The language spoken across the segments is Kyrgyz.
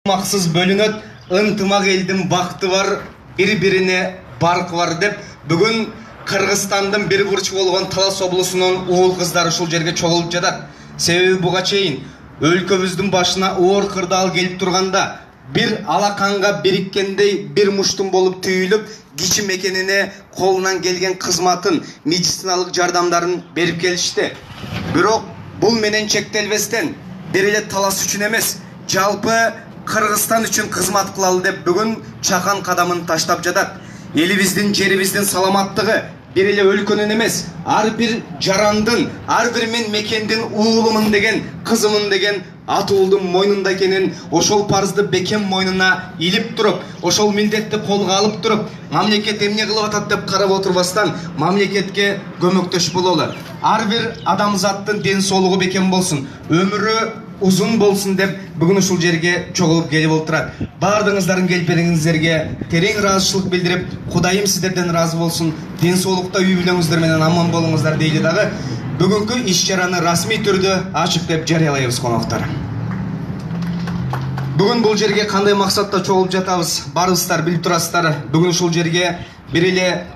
Максыз бөлүнөт, ынтымак элдин бакты бар, бири-бирине баркы бар деп бүгүн Кыргызстандын бир бурчу болгон Талас облусунун уул кыздары ушул жерге чогулуп жатат. Себеби буга чейин өлкөбүздүн башына оор кырдаал келип турганда бир алаканга бириккендей бир муштум болуп түйүлүп, кичи мекенине колунан келген кызматын, медициналык жардамдарын берип келишти. Бирок бул менен чектелбестен бир эле Талас үчүн эмес, жалпы Кыргызстан үчүн кызмат кылалы деп бүгүн чакан кадамын таштап жатат. Элибиздин, жерибиздин саламаттыгы бир эле өлкөнүн эмес, ар бир жарандын, ар бир мен мекендин уулумун деген, кызымын деген атуулдун мойнунда экенин, ошол парызды бекем мойнуна илип туруп, ошол милдетти колго алып туруп, мамлекет эмне кылып атат деп карап отурбастан мамлекетке көмөктөшүп бололу. Ар бир адамзаттын ден соолугу бекем болсун, өмүрү узун болсун деп бүгүн ушул жерге чогулуп келип отурат. Баардыгыңыздардын келипериңиздерге терең ыраазычылык билдирип, Кудайым сиздерден ыраазы болсун. Ден соолукта үй бүлөңүздөр менен аман болуңуздар дейли дагы. Бүгүнкү иш-чараны расмий түрдө ачык деп жарыялайбыз коноктор. Бүгүн бул жерге кандай максатта чогулуп жатабыз? Баарыңыздар билип турасыздар. Бүгүн ушул жерге бир эле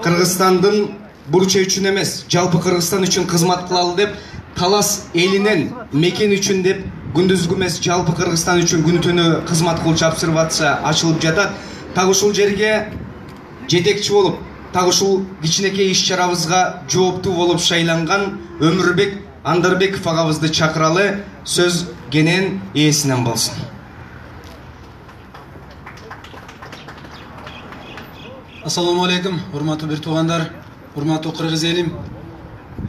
Кыргызстандын бурчу үчүн эмес, жалпы Кыргызстан үчүн кызмат кылалы деп, Талас элинен мекен үчүн деп күндүзгү эмес, жалпы Кыргызстан үчүн күнү түнү кызмат кылуучу обсервация ачылып жатат. Так ушул жерге жетекчи болуп, так ушул кичинекей иш-чарабызга жооптуу болуп шайланган Өмүрбек Андарбеков агабызды чакыралы. Сөз кенен ээсинен болсун. Ассаламу алейкум, урматтуу бир туугандар, урматтуу кыргыз элим.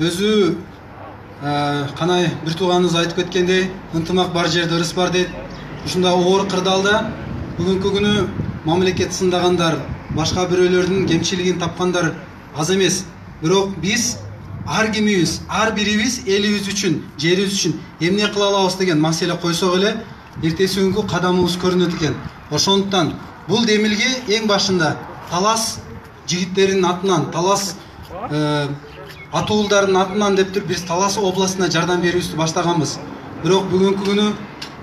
Өзү канай бир тууганыбыз айтып кеткендей, ынтымак бар жерде ырыс бар дейт. Ушундай оор кырдаалда бүгүнкү күнү мамлекет сындагандар, башка бирөөлөрдүн кемчилигин тапкандар аз эмес. Бирок биз ар кимибиз, ар бирибиз элибиз үчүн, жерибиз үчүн эмне кыла алабыз деген маселе койсок эле, эртеси күнгү кадамыбыз көрүнөт экен. Ошондуктан бул демилге эң башында Талас жигиттеринин атынан, Талас атуулдардын атынан деп туруп биз Талас областына жардам берүүбүздү баштаганбыз. Бирок бүгүнкү күнү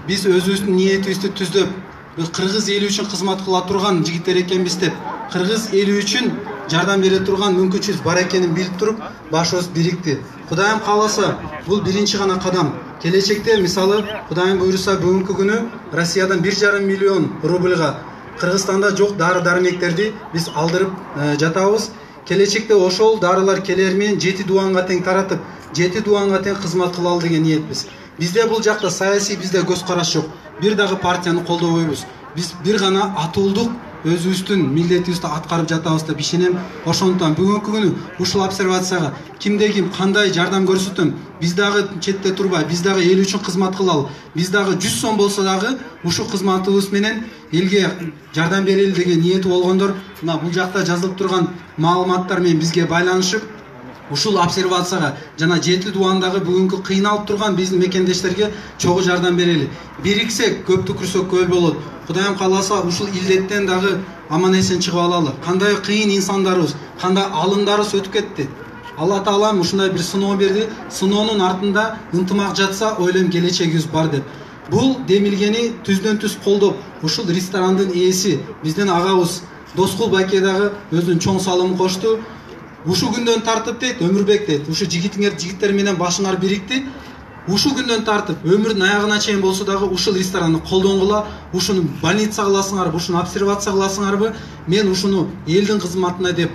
биз өзүбүздүн ниетибизди түздөп, биз кыргыз эли үчүн кызмат кыла турган жигиттер экенбиз деп, кыргыз эли үчүн жардам бере турган мүмкүнчүлүк бар экенин билип туруп, башыбыз бирикти. Кудайым кааласа, бул биринчи гана кадам. Келечекте, мисалы, Кудайым буйруса, бүгүнкү күнү Россиядан 1,5 миллион рубльга Кыргызстанда жок дары-дармектерди биз алдырып жатабыз. Келечекте ошол дарылар келер менен 7 дуанга тең таратып, 7 дуанга тең кызмат кылалы деген ниетпиз. Бизде бул жакта саясий бизде көз караш жок. Бир дагы партияны колдобойбуз. Биз бир гана атуулдук өзүбүздүн милдетибизди аткарып жатабыз деп ишенем. Ошондуктан бүгүнкү күнү ушул обсервацияга кимде ким кандай жардам көрсөтөм, биз дагы четте турбай, биз дагы эл үчүн кызмат кылалы. Биз дагы 100 сом болсо дагы ушул кызматыбыз менен элге жардам берели деген ниети болгондор, мына бул жакта жазылып турган маалыматтар менен бизге байланышып, ушул обсервацияга жана 7 дуандагы бүгүнкү кыйналып турган биздин мекендештерге чогуу жардам берели. Бириксек көптү күрсөк көл болот. Кудайым кааласа ушул илдеттен дагы аман эсен чыгып алалы. Кандай кыйын инсандарыбыз, кандай алымдарыбыз өтүп кетти. Алла Таалам ушундай бир сыноо берди. Сыноонун артында ынтымак жатса, ойлойм келечегибиз бар деп. Бул демилгени түздөн түз колдоп, ушул ресторандын ээси, биздин агабыз Доскул байке дагы өзүнүн чоң салымын кошту. Ушул күндөн тартып дейт, Өмүрбек дейт, ушу жигиттер менен башыңар бирикти. Ушул күндөн тартып өмүрдүн аягына чейин болсо дагы ушул ресторанды колдонгула, ушуну больница кыласыңарбы, ушуну обсервация кыласыңарбы, мен ушуну элдин кызматына деп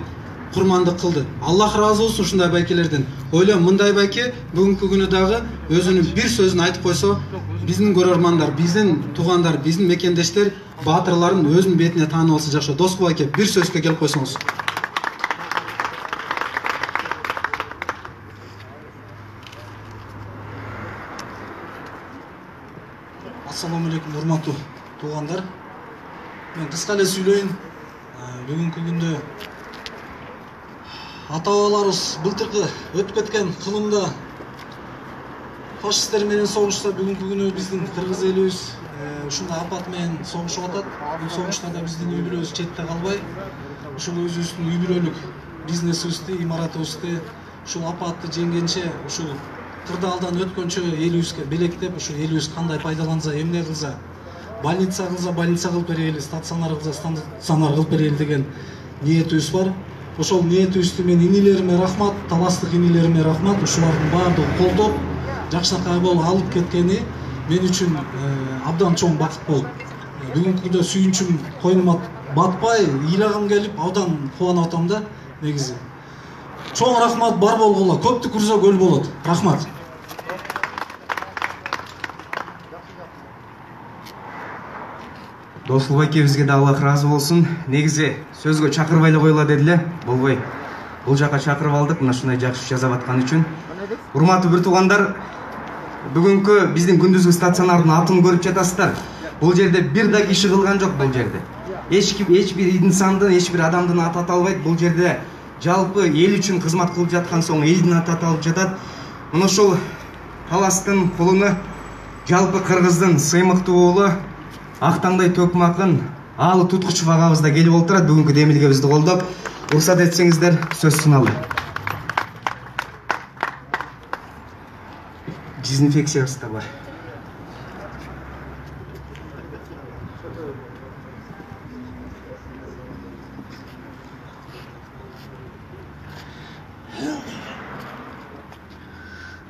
курмандык кылды. Аллах ыраазы болсун ушундай байкелерден. Ойлойм, мындай байке бүгүнкү күнү дагы өзүнүн бир сөзүн айтып койсо, биздин көрөрмандар, биздин туугандар, биздин мекендештер, баатырларын өзүнүн бетине таанып алса жакшы. Доскул байке, бир сөзгө келип койсоңуз. Ассаламу алейкум, урматтуу туугандар. Мен кыска эле сүйлөйүн. Бүгүнкү күндө ата-бабаларыбыз былтыркы өтүп кеткен кылымда фашисттер менен согушса, бүгүнкү күнү биздин кыргыз элибиз ушундай апат менен согушуп атат. Бул согушта да биздин үй бүлөбүз четте калбай, ушул өзүбүздүн үй бүлөлүк бизнесибизди, имаратыбызды ушул апатты жеңгенче, ушул кырдаалдан өткөнчө элибизге белектеп, ушул элибиз кандай пайдаланса, эмне кылса, больница кылса больница кылып берели, стационар кылса стационар кылып берели деген ниетибиз бар. Ошол ниетибизди мен инилериме рахмат, таластык инилериме рахмат. Ушулардын баардыгы колдоп, жакшынакай болуп алып кеткени мен үчүн абдан чоң бакыт болуп. Бүгүнкү күндө сүйүнчүм койнума батпай, ыйлагым келип, абдан кубанып атам да негизи. Чоң рахмат, бар болгула. Көптү күрсө көл болот. Рахмат. Досулбай экебизге да Аллах ыраазы болсун. Негизи сөзгө чакырбай эле койгула дедиле. Болбой. Бул жака чакырып алдык, мына ушундай жакшы жазап аткан үчүн. Урматтуу бир туугандар, бүгүнкү биздин күндүзгү стационардын атын көрүп жатасыздар. Бул жерде бир да киши кылган жок бул жерде. Эч бир инсандын, эч бир адамдын аты аталбайт. Бул жерде жалпы эл үчүн кызмат кылып жаткан соң элдин аты аталып жатат. Мына ушул таластын кулуну жалпы кыргыздын сыймыктуу уулу Актаңдай Төкмакын Аалы Туткучов агабыз да келип олтурат бүгүнкү демилгебизди колдоп. Уруксат этсеңиздер, сөз суналды. Дезинфекциябыз да бар.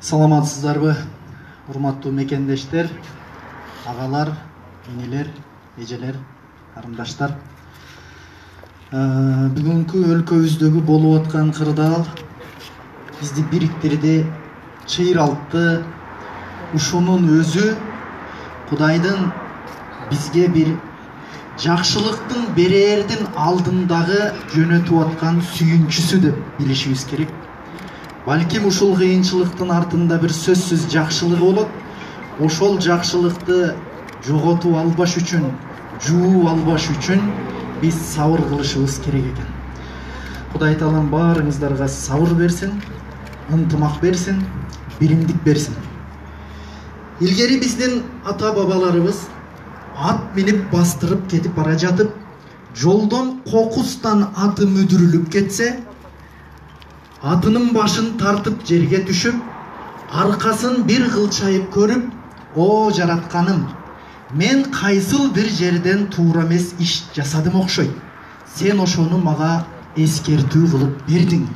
Саламатсыздарбы, урматтуу мекендештер, агалар, инилер, эжелер, карындаштар. Бүгүнкү өлкөбүздөгү болуп аткан кырдаал бизди бириктирди, чыйралтты. Ушунун өзү Кудайдын бизге бир жакшылыктын берээрдин алдындагы жөнөтүп аткан сүйүнчүсү деп билишибиз керек. Балким ушул кыйынчылыктын артында бир сөзсүз жакшылык болот. Ошол жакшылыкты жоготуп албаш үчүн, жууп албаш үчүн биз сабыр кылышыбыз керек экен. Кудай Таалам баарыңыздарга сабыр берсин, ынтымак берсин, биримдик берсин. Илгери биздин ата-бабаларыбыз ат минип бастырып кетип бара жатып, жолдон кокустан аты мүдүрүлүп кетсе, атынын башын тартып жерге түшүп, аркасын бир кылчайып көрүп, о жаратканым, мен кайсыл бир жерден туура эмес иш жасадым окшойт. Сен ошону мага эскертүү кылып бердиң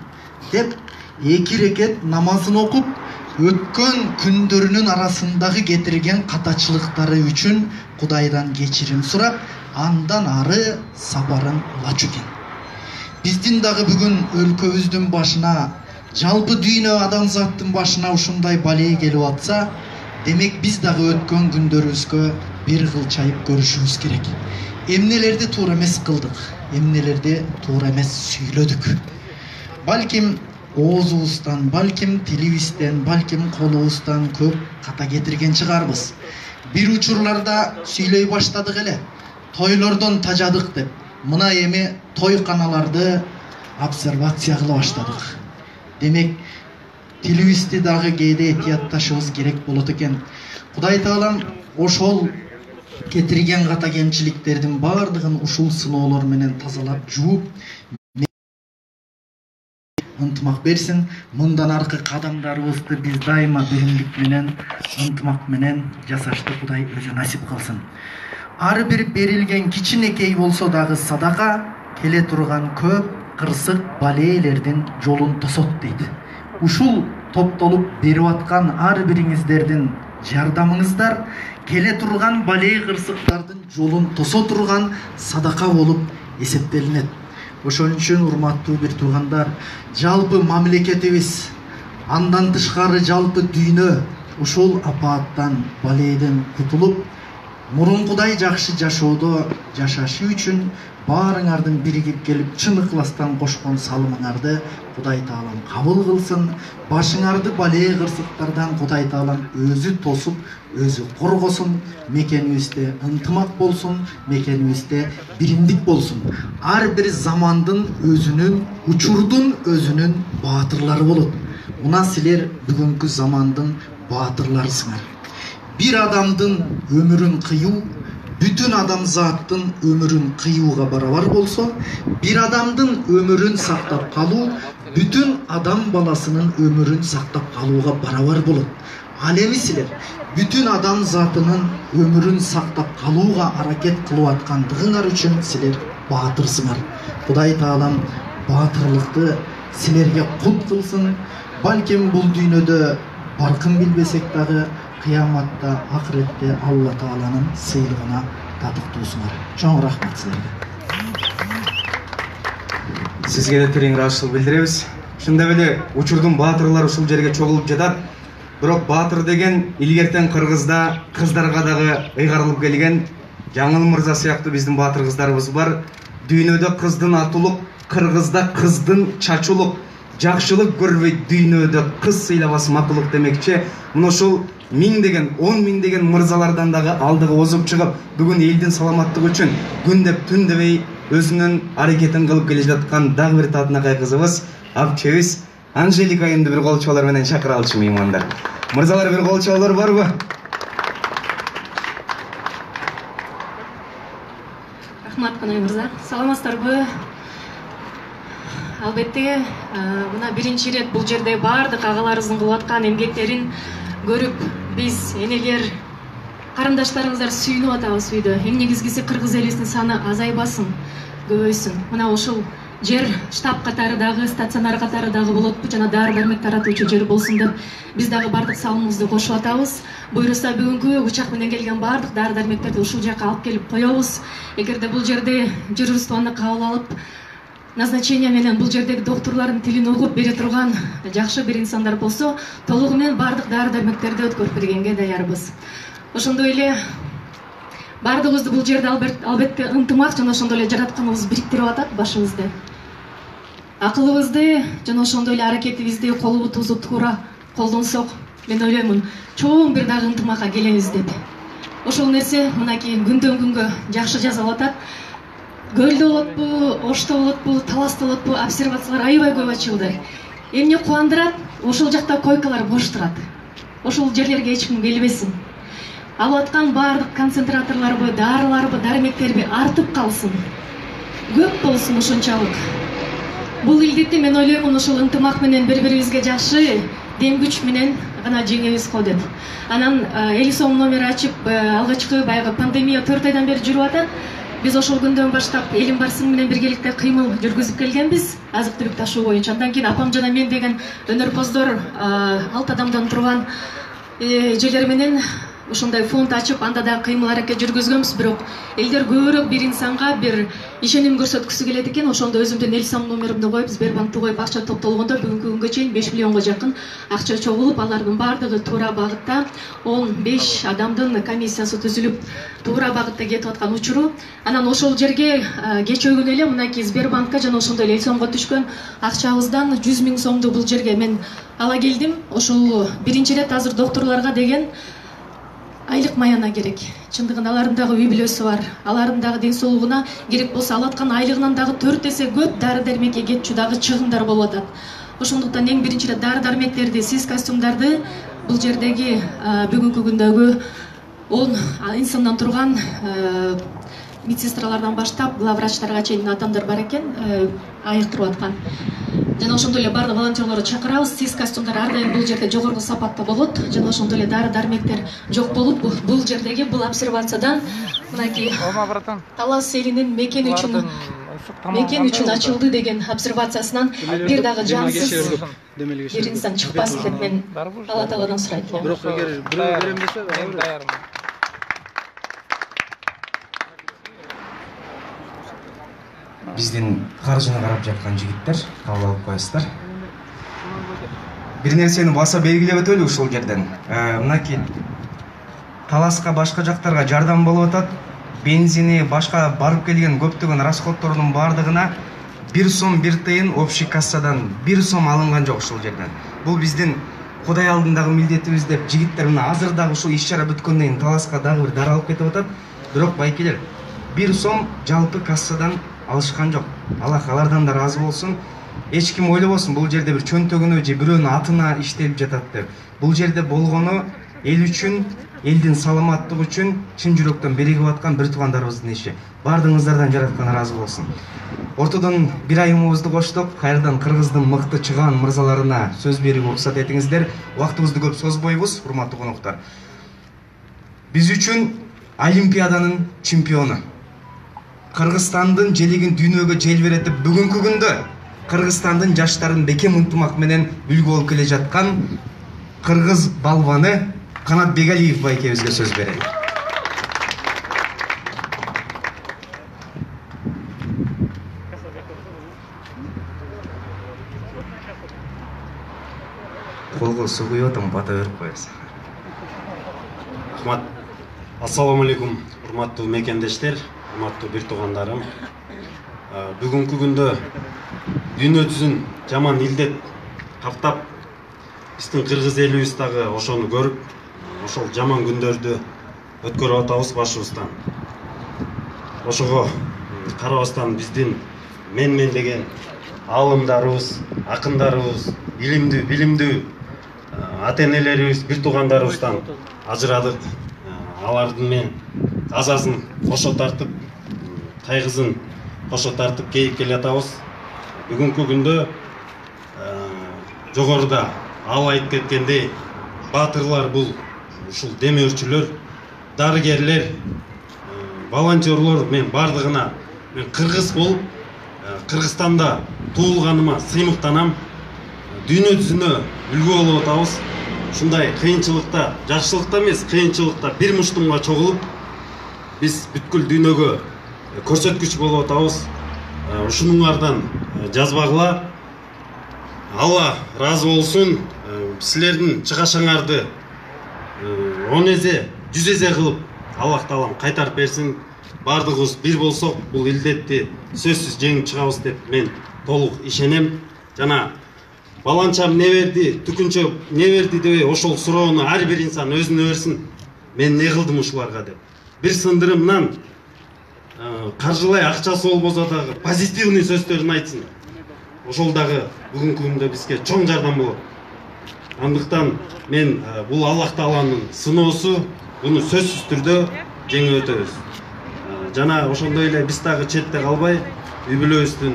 деп эки рекет намазын окуп, өткөн күндөрүнүн арасындагы кетирген катачылыктары үчүн Кудайдан кечирим сурап, андан ары сапарын улачу экен. Биздин дагы бүгүн өлкөбүздүн башына, жалпы дүйнө адамзаттын башына ушундай балээ келип атса, демек биз дагы өткөн күндөрүбүзгө бир кылчайып көрүшүбүз керек. Эмнелерди туура эмес кылдык, эмнелерди туура эмес сүйлөдүк. Балким оозубуздан, балким тилибизден, балким колубуздан көп ката кетирген чыгарбыз. Бир учурларда сүйлөй баштадык эле. Тойлордон тажадык деп, мына эми тойканаларды обсервация кыла баштадык. Демек, тилибизди дагы кээде этиятташыбыз керек болот экен. Кудай Таалам ошол кетирген ката кемчиликтердин баардыгын ушул сыноолор менен тазалап, жууп, ынтымак берсин. Мындан аркы кадамдарыбызды биз дайыма биримдик менен, ынтымак менен жасашты Кудай өзү насип кылсын. Ар бир берилген кичинекей болсо дагы садака келе турган көп кырсык балээлердин жолун тосот дейт. Ушул топтолуп берип аткан ар бириңиздердин жардамыңыздар келе турган балээ кырсыктардын жолун тосо турган садака болуп эсептелинет. Ошон үчүн урматтуу бир туугандар, жалпы мамлекетибиз, андан тышкары жалпы дүйнө ушул апааттан, балээден кутулуп, мурункудай жакшы жашоодо жашашы үчүн баарыңардын биригип келип чын ыкластан кошкон салымыңарды Кудай Таалам кабыл кылсын. Башыңарды балээ кырсыктардан Кудай Таалам өзү тосуп, өзү коргосун. Мекенибизде ынтымак болсун, мекенибизде биримдик болсун. Ар бир замандын өзүнүн, учурдун өзүнүн баатырлары болот. Мына силер бүгүнкү замандын баатырларысыңар. Бир адамдын өмүрүн кыюу бүтүн адамзаттын өмүрүн кыюуга барабар болсо, бир адамдын өмүрүн сактап калуу бүтүн адам баласынын өмүрүн сактап калууга барабар болот. Ал эми силер бүтүн адам затынын өмүрүн сактап калууга аракет кылып аткандыгыңар үчүн силер баатырсыңар. Кудай Таалам баатырлыкты силерге кут кылсын. Балким бул дүйнөдө баркын билбесек дагы кыяматта, акыретте Алла Тааланын сыйлыгына татыктуусуңар. Чоң рахмат силерге. Сизге да терең ыраазычылык билдиребиз. Ошондой эле учурдун баатырлары ушул жерге чогулуп жатат. Бирок баатыр деген илгертен Кыргызда кыздарга дагы ыйгарылып келген Жаңыл мырза сыяктуу биздин баатыр кыздарыбыз бар. Дүйнөдө кыздын атулук, Кыргызда кыздын чачулук, жакшылык көрбөйт дүйнөдө кыз сыйлабас макулук демекчи. Мына ушул миңдеген, 10 миңдеген мырзалардан дагы алдыга озуп чыгып, бүгүн элдин саламаттыгы үчүн күн деп түн дебей өзүнүн аракетин кылып келе жаткан дагы бир татынакай кызыбыз, апчебиз Анжелика айымды бир кол чабуулар менен чакыра алчу меймандар. Мырзалар, бир кол чабуулар барбы? Рахмат Канай мырза. Саламатсыздарбы? Албетте, мына биринчи ирет бул жерде баардык агаларыбыздын кылып аткан эмгектерин көрүп, биз энелер, карындаштарыбыздар сүйүнүп атабыз үйдө. Эң негизгиси кыргыз элибиздин саны азайбасын, көбөйсүн. Мына ушул жер штаб катары дагы, стационар катары дагы болот, жана дары дармек таратуучу жер болсун деп биз дагы бардык салымыбызды кошуп атабыз. Буйруса бүгүнкү учак менен келген бардык дары дармектерди ушул жака алып келип коебуз. Эгерде бул жерде журналист аны кабыл алып, назначение менен бул жердеги докторлордун тилин угуп бере турган жакшы бир инсандар болсо, толугу менен бардык дары дармектерди өткөрүп бергенге даярбыз. Ошондой эле бардыгыбызды бул жерде албетте ынтымак жана ошондой эле жаратканыбыз бириктирип атат башыбызды. Акылыбызды жана ошондой эле аракетибизди, колубузду туура колдонсок, мен ойлоймун, чоң бир дагы ынтымакка келебиз деп. Ошол нерсе мынакей күндөн күнгө жакшы жасалып атат. Көлдө болотпу, Ошто болотпу, Таласта болотпу, обсервациялар аябай көп ачылды. Эмне кубандырат? Ошол жакта койкалар бош турат. Ошол жерлерге эч ким келбесин. Алып аткан баардык концентраторлорбу, дарыларбы, дармектерби артып калсын. Көп болсун ошончалык. Бул илдетти мен ойлоймун ошол ынтымак менен бири-бирибизге жакшы дем күч менен гана жеңебиз го деп. Анан 50 сом номер ачып, алгачкы баягы пандемия 4 айдан бери жүрүп атат. Биз ошол күндөн баштап элим барсын менен биргеликте кыймыл жүргүзүп келгенбиз, азык-түлүк ташуу боюнча. Андан кийин апам жана мен деген өнөрпоздор 6 адамдан турган жерлер менен ошондой фонд ачып, анда да кыймыл аракет жүргүзгөнбүз. Бирок элдер көбүрөөк бир инсанга бир ишеним көрсөткүсү келет экен. Ошондо өзүмдүн эл сом номеримди коюп, Сбербанкты коюп акча топтолгондо бүгүнкү күнгө чейин 5 миллионго жакын акча чогулуп, алардын баардыгы туура багытта 15 адамдын комиссиясы түзүлүп, туура багытта кетип аткан учуру. Анан ошол жерге кечөө эле мынакей Сбербанкка жана ошондой эле эл сомго түшкөн акчабыздан 100 000 сомду бул жерге мен ала келдим. Ошол биринчи рет азыр докторлорго деген айлык маяна керек. Чындыгында алардын дагы үй бүлөсү бар. Алардын дагы ден соолугуна керек болсо алаткан айлыгынан дагы 4 эсе көп дары дармекке кетчү дагы чыгымдар болуп атат. Ошондуктан эң биринчи эле дары дармектерди, сиз костюмдарды бул жердеги бүгүнкү күндөгү 10 инсандан турган медсестралардан баштап главврачтарга чейин адамдар бар экен, айыктырып аткан. Жана ошондой эле бардык волонтерлорду чакырабыз. Сиз костюмдар ар дайым бул жерде жогорку сапатта болот. Жана ошондой эле дары дармектер жок болуп, бул жердеги бул обсервациядан мынакей Талас элинин мекен үчүн ачылды деген обсервациясынан бир дагы жансыз бир инсан чыкпасын деп мен Алла Тааладан сурайт элем. Бирок эгер бирөө берем десе, мен даярмын. Биздин каржыны карап жаткан жигиттер кабыл алып коесуздар. Бир нерсени баса белгилеп өтөлү ушул жерден. Мынакей Таласка башка жактарга жардам болуп атат. Бензини, башка барып келген көптөгөн расходтордун баардыгына 1 сом 1 тыйын общий кассадан 1 сом алынган жок ушул жерден. Бул биздин Кудай алдындагы милдетибиз деп жигиттер мына азыр дагы ушул иш-чара бүткөндөн кийин Таласка дагы бир дары алып кетип атат. Бирок байкелер 1 сом жалпы кассадан алышкан жок. Аллах алардан да ыраазы болсун. Эч ким ойлобосун бул жерде бир чөнтөгүнө же бирөөнүн атына иштелип жатат деп. Бул жерде болгону эл үчүн, элдин саламаттыгы үчүн чын жүрөктөн беригип аткан бир туугандарыбыздын иши. Бардыгыңыздардан жараткан ыраазы болсун. Ортодон бир айымыбызды коштук. Кайрадан Кыргыздын мыкты чыгаан мырзаларына сөз берүүгө уруксат этиңиздер. Убактыбызды көп созбойбуз, урматтуу коноктор. Биз үчүн Олимпиаданын чемпиону, Кыргызстандын желегин дүйнөгө желбиретип, бүгүнкү күндө Кыргызстандын жаштарын бекем ынтымак менен үлгү болуп келе жаткан кыргыз балбаны Канат Бегалиев байкебизге сөз берели. Колго суу куюп атам, бата берип коесуң. Рахмат. Ассаламу алейкум, урматтуу мекендештер, урматтуу бир туугандарым. Бүгүнкү күндө дүйнө жүзүн жаман илдет каптап, биздин кыргыз элибиз дагы ошону көрүп, ошол жаман күндөрдү өткөрүп атабыз башыбыздан. Ошого карабастан биздин менмендеген аалымдарыбыз, акындарыбыз, билимдүү ата-энелерибиз, бир туугандарыбыздан ажырадык. Алардын мен азасын кошо тартып, кайгысын кошо тартып кейип келе атабыз. Бүгүнкү күндө жогоруда ал айтып кеткендей, баатырлар бул ушул демөөрчүлөр, дарыгерлер, волонтерлор, мен бардыгына мен кыргыз болуп, Кыргызстанда туулганыма сыймыктанам. Дүйнө жүзүнө үлгү болуп атабыз. Ушундай кыйынчылыкта, жакшылыкта эмес, кыйынчылыкта бир муштумга чогулуп, биз бүткүл дүйнөгө көрсөткүч болуп атабыз. Ушунуңардан жазбагыла. Алла разы болсун. Силердин чыгашаңарды 10 эзе, 100 эзе кылып Аллах таалам кайтарып берсин. Бардыгыбыз бир болсок, бул илдетти сөзсүз жеңип чыгабыз деп мен толук ишенем. Жана баланчам не берди, түкүнчө не берди дебей, ошол суроону ар бир инсан өзүнө берсин. Мен не кылдым ушуларга деп. Бир сындырымдан каржылай акчасы болбосо дагы позитивный сөздөрүн айтсын. Ошол дагы бүгүнкү күндө бизге чоң жардам болот. Андыктан мен бул Аллах тааланын сыноосу, буну сөзсүз түрдө жеңип өтөбүз. Жана ошондой эле биз дагы четте калбай, үй бүлөбүздүн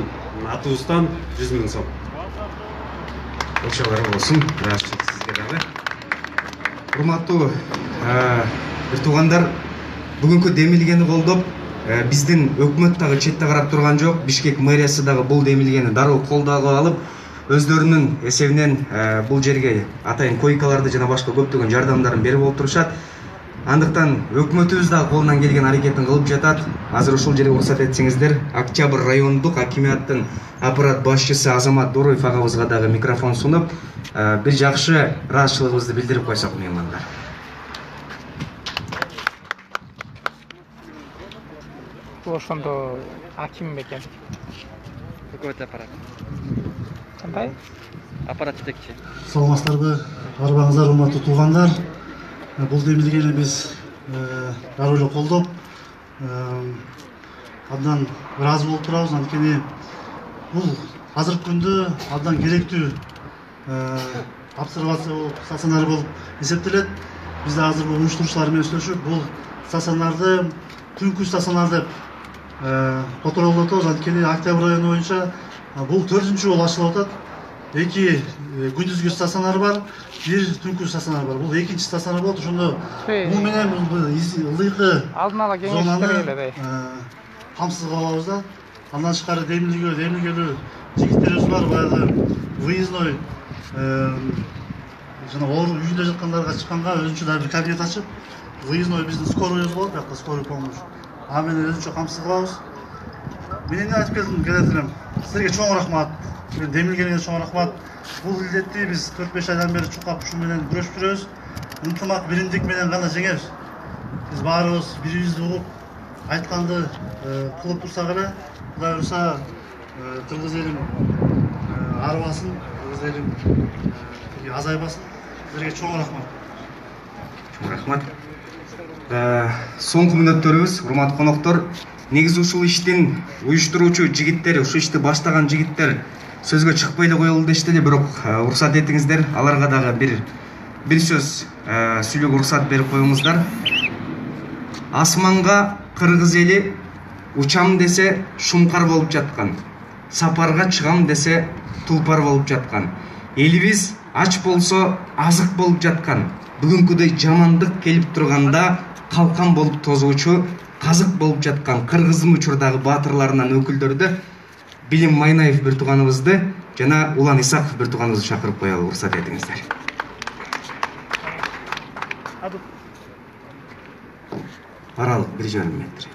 атыбыздан 100 000 сом. Ошолор болсун, ыраазычылык сизге дагы. Урматтуу бир туугандар, бүгүнкү демилгени колдоп, биздин өкмөт дагы четте карап турган жок. Бишкек мэриясы дагы бул демилгени дароо колдоого алып, өздөрүнүн эсебинен бул жерге атайын койкаларды жана башка көптөгөн жардамдарын берип болуп турушат. Андыктан өкмөтүбүз дагы колунан келген аракетин кылып жатат. Азыр ушул жерге уруксат этсеңиздер, Октябрь райондук акиматтын аппарат башчысы Азамат Дороев агабызга дагы микрофон сунуп, бир жакшы ыраазычылыгыбызды билдирип койсок меймандар. Ошондо аким бекен. Өкмөт аппарат. Кандай? Аппарат жетекчи. Саламатсыздарбы, арбаңыздар, урматтуу туугандар. Бул демилгени биз дароо эле колдоп, абдан ыраазы болуп турабыз. Анткени бул азыркы күндө абдан керектүү обсервация болуп, стационар болуп эсептелет. Биз да азыр бул уюштуруучулар менен сүйлөшүп, бул стационарды түнкү стационар деп которулуп атабыз. Анткени Октябрь району боюнча бул 4-чү жолу ачылып атат. 2 күндүзгү стационар бар, 1 түнкү стационар бар. Бул 2-чи стационар болот. Ошондо бул менен бул ылдыйкы алдын ала кеңештер камсыз кылабыз да. Андан тышкары демилгелүү жигиттерибиз бар, баягы выездной жана оору үйүндө жаткандарга чыкканга өзүнчө да бир кабинет ачып, выездной биздин скоройбуз болот, бияка скорый помощь. А менен өзүнчө камсыз кылабыз. Мен эмне айтып келдим элем. Силерге чоң рахмат. Демилгениңер чоң рахмат. Бул илдетти биз 4-5 айдан бери чукап ушу менен күрөшүп жүрөбүз. Ынтымак, биримдик менен гана жеңебиз. Биз баарыбыз бирибизди угуп, айтканды кылып турсак эле, Кудай буюрса, кыргыз элим арыбасын, кыргыз элим азайбасын. Силерге чоң рахмат. Чоң рахмат. Соңку мүнөттөрүбүз, урматтуу коноктор, негизи ушул иштин уюштуруучу жигиттер, ушул ишти баштаган жигиттер сөзгө чыкпай эле коелу дешти эле, бирок уруксат этиңиздер, аларга дагы бир бир сөз сүйлөөгө уруксат берип коюңуздар. Асманга кыргыз эли учам десе шумкар болуп жаткан, сапарга чыгам десе тулпар болуп жаткан, элибиз ач болсо азык болуп жаткан, бүгүнкүдөй жамандык келип турганда калкан болуп тозуучу казык болуп жаткан кыргыздын учурдагы баатырларынан өкүлдөрдү Билим Майнаев бир тууганыбызды жана Улан Исаков бир тууганыбызды чакырып коелу, уруксат этиңиздер. Аралык 1,5 метр.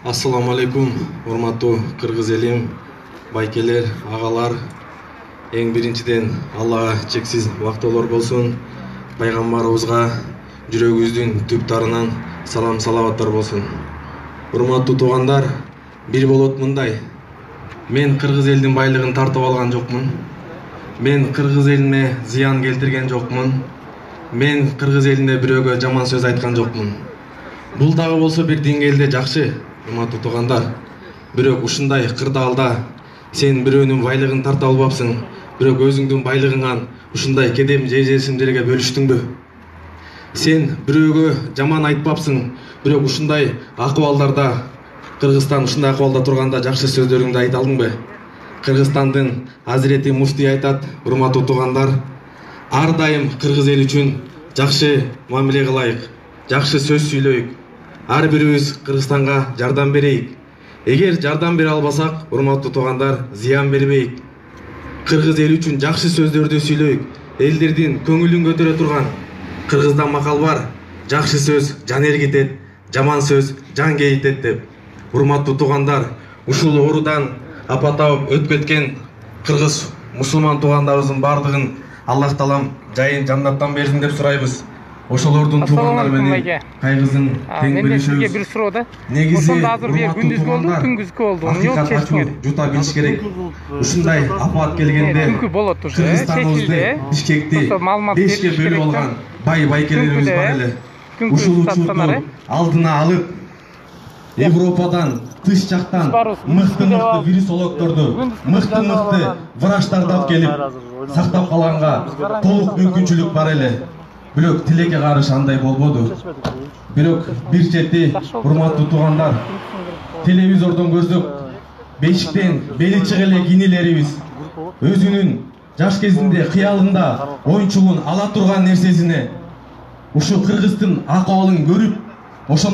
Ассаламу алейкум, урматтуу кыргыз элим, байкелер, агалар. Эң биринчиден Аллага чексиз бактылар болсун. Пайгамбарыбызга жүрөгүбүздүн түп тарынан салам салаваттар болсун. Урматтуу туугандар, бир болот мындай. Мен кыргыз элдин байлыгын тартып алган жокмун. Мен кыргыз элине зыян келтирген жокмун. Мен кыргыз элине бирөөгө жаман сөз айткан жокмун. Бул дагы болсо бир деңгээлде жакшы, урматтуу туугандар. Бирок ушундай кырдаалда сен бирөөнүн байлыгын тарта албапсың, бирок өзүңдүн байлыгыңан ушундай кедем жесимдерге бөлүштүңбү? Сен бирөөгө жаман айтпапсың, бирок ушундай акыбалдарда Кыргызстан ушундай акыбалда турганда жакшы сөздөрүңдү айта алдыңбы? Кыргызстандын Азирети Муфтий айтат, урматтуу туугандар, ар дайым кыргыз эл үчүн жакшы мамиле кылайык, жакшы сөз сүйлөйүк, ар бирибиз Кыргызстанга жардам берейик. Эгер жардам бере албасак, урматтуу туугандар, зыян бербейик. Кыргыз эл үчүн жакшы сөздөрдү сүйлөйүк. Элдердин көңүлүн көтөрө турган Кыргызда макал бар, жакшы сөз жан эргитет, жаман сөз жан кейитет деп. Урматтуу туугандар, ушул оорудан апа тауып өтүп кеткен кыргыз мусулман туугандарыбыздын бардыгын Аллах Таалам жайын жаннаттан берсин деп сурайбыз. Ошолордун туугандары менен кайгысын тең бөлүшөбүз. Сизге бир суроо да. Негизи ошондо азыр бир күндүзгү болду, түнгүзгү болду. Эмне болуп чечтиңер? Жута билиш керек. Ушундай апат келгенде Түнкү болот уже, Кыргызстаныбызды Бишкекти 5ке бөлүп алган байкелерибиз бар эле. Ушул учурду алдына алып, Европадан, тыш жактан мыкты вирусологдорду, мыкты врачтарды алып келип сактап калганга толук мүмкүнчүлүк бар эле. Бирок тилекке каршы андай болбоду. Бирок бир чети, урматтуу туугандар, телевизордон көрсөк, бешиктен бели чыга эле кинилерибиз өзүнүн жаш кезинде кыялында оюнчугун ала турган нерсесине ушу Кыргыздын акыбалын көрүп, ошо